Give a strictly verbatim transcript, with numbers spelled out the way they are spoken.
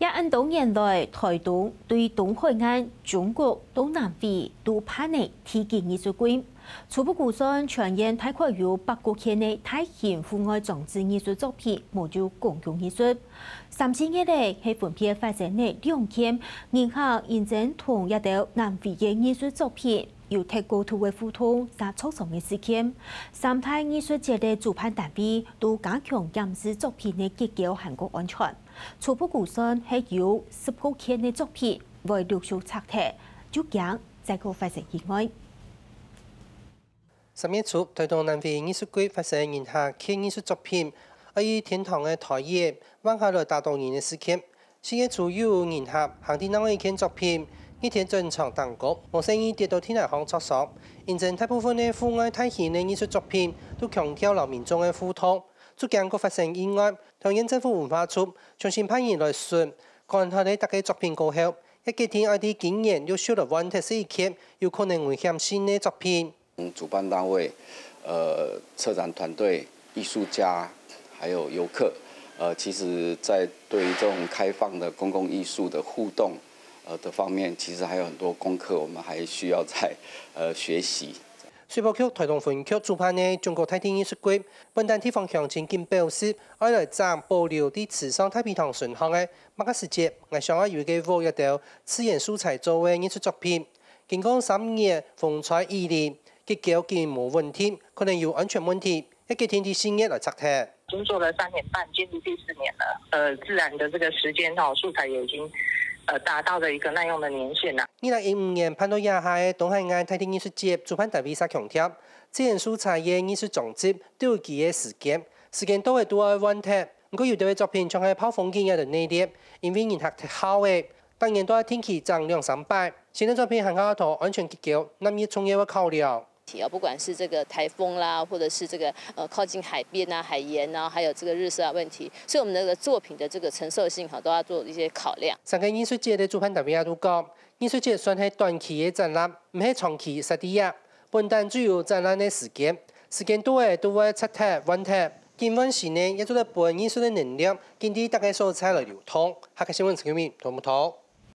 這恁多年來，臺東對東海岸、中國到南迴都辦理地基藝術季。初步估算，全縣大概有百過件个大型戶外裝置藝術作品，無有公共藝術。三四月个係分別發生了兩件，人客認真同這兜南迴个藝術作品有忒過度个互動，嗄著傷个事件。三大藝術節个主辦單位都加強檢視作品个結構還過安全。初步估算係有十過件个作品會陸續拆忒，就驚再過發生意外。三月初，臺東南迴藝術季發生人客剋藝術作品，愛以天堂个台椅彎下來打到人个事件。四月初又有人客行地鬧个剋作品，日天轉場頂高，無細義跌到地泥項著傷。因此，大部分个戶外大型个藝術作品都強調摎民眾个互動，就驚過發生意外。桃園政府文化處重新派人來巡，觀察了逐个作品過後，也決定愛在今年陸續來換忒十一件有可能危險性个作品。 主辦單位、呃，策展團队、艺术家，还有游客，呃，其实在对于这种开放的公共艺术的互动，呃，的方面，其实还有很多功课，我们还需要再，呃，学习。水保局臺東分局主办个中國大地藝術季，本旦地方鄉親緊表示，愛來整保留在池上大陂塘脣項个麥芽時節，𠊎想愛有一個屋仔，一兜自然素材做个藝術作品。 經過三年風吹雨淋，結構緊無穩定，可能有安全問題，也決定在四月來拆忒。已經做了三年半，進入第四年了。呃，自然的這個時間哈，素材也已經呃達到了一個耐用的年限了。二零一五年辦到這下个東海岸大地藝術節，主辦單位嗄強調，自然素材个藝術裝置都有佢个時間，時間到了都愛換忒。毋過有兜个作品像係暴風景一樣个內斂，因為人客忒好了， 逐年都愛定期整兩三擺。新个作品還較多安全結構，納入重要个考量。啊，不管是這個颱風啦，或者是這個，呃，靠近海邊啊、海鹽啊，還有這個日曬的問題，所以我們的作品的這個承受性，哈，都要做一些考量。三個藝術節个主辦單位也都講，藝術節算係短期个展覽，毋係長期設在這。本旦就有展覽个時間，時間到了都會拆忒、換忒。緊換新个，也做得分藝術个能量緊在逐個所在來流通。客家新聞陳玉明，同步投。